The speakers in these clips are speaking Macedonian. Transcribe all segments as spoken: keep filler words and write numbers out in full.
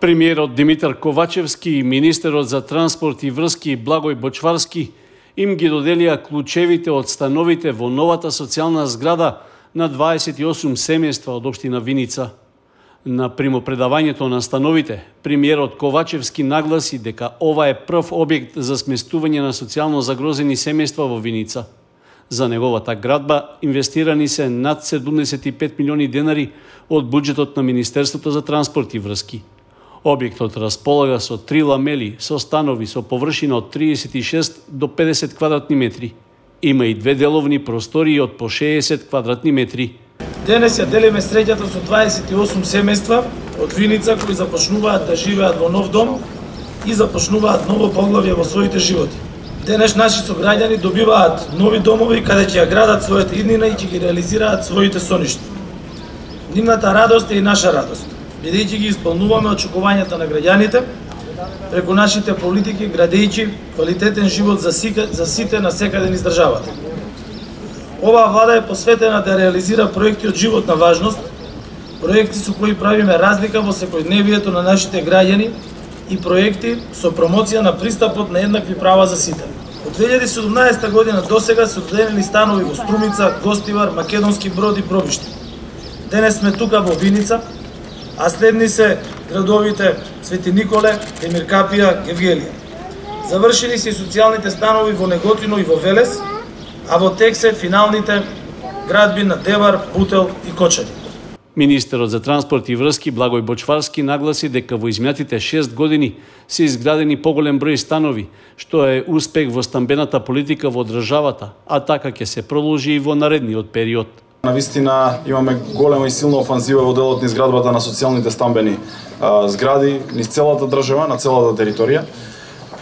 Премиерот Димитар Ковачевски и министерот за транспорт и врски Благој Бочварски им ги доделија клучевите од становите во новата социјална зграда на дваесет и осум семејства од општина Виница. На примопредавањето на становите, премиерот Ковачевски нагласи дека ова е прв објект за сместување на социјално загрозени семејства во Виница. За неговата градба инвестирани се над седумдесет и пет милиони денари од буџетот на Министерството за транспорт и врски. Објектот располага со три ламели, со станови со површина од триесет и шест до педесет квадратни метри. Има и две деловни простории од по шеесет квадратни метри. Денес ја делиме среќата со дваесет и осум семејства од Виница кои започнуваат да живеат во нов дом и започнуваат ново поглавје во своите животи. Денес наши сограѓани добиваат нови домови каде ќе ја градат својата иднина и ќе ги реализираат своите соништа. Нивната радост е и наша радост, бидејќи ги исполнуваме очекувањата на граѓаните преку нашите политики, градејќи квалитетен живот за сите, за сите на секаде низ државата. Оваа влада е посветена да реализира проекти од животна важност, проекти со кои правиме разлика во секојдневието на нашите граѓани и проекти со промоција на пристапот на еднакви права за сите. Од две илјади и седумнаесета година досега се доделени станови во Струмица, Гостивар, Македонски Брод и Пробиште. Денес сме тука во Виница, а следни се градовите Свети Николе, Демир Капија, Гевгелија. Завршени се и социјалните станови во Неготино и во Велес, а во тек се финалните градби на Девар, Бутел и Кочани. Министерот за транспорт и врски Благој Бочварски нагласи дека во изминатите шест години се изградени поголем број станови, што е успех во стамбената политика во државата, а така ќе се продолжи и во наредниот период. Навистина имаме голема и силна офанзива во делот низ градбата на социјалните стамбени а, згради низ целата држава, на целата територија.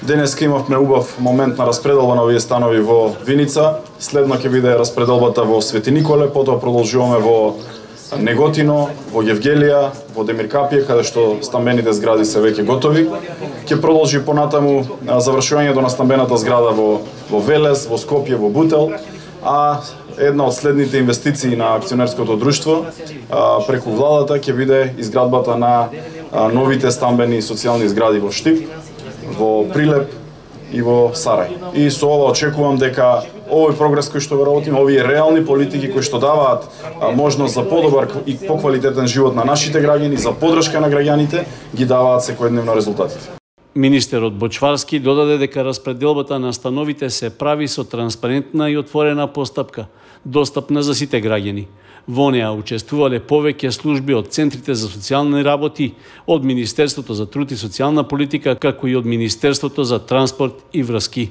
Денеска имавме убав момент на распределба на овие станови во Виница, следно ќе биде распределбата во Свети Николе, потоа продолжуваме во Неготино, во Гевгелија, во Демир Капија, каде што стамбените згради се веќе готови. Ќе продолжи понатаму завршувањето на стамбената зграда во, во Велес, во Скопје, во Бутел, а една од следните инвестиции на акционерското друштво а, преку владата ќе биде изградбата на а, новите стамбени и социјални згради во Штип, во Прилеп и во Сарај. И со ова очекувам дека овој прогрес кој што го работиме, овие реални политики кои што даваат а, можност за подобар и поквалитетен живот на нашите граѓани, за поддршка на граѓаните, ги даваат секојдневно резултатите. Министерот Бочварски додаде дека распределбата на становите се прави со транспарентна и отворена постапка, достапна за сите граѓани. Во неа учествувале повеќе служби од центрите за социјални работи, од Министерството за труд и социјална политика, како и од Министерството за транспорт и врски.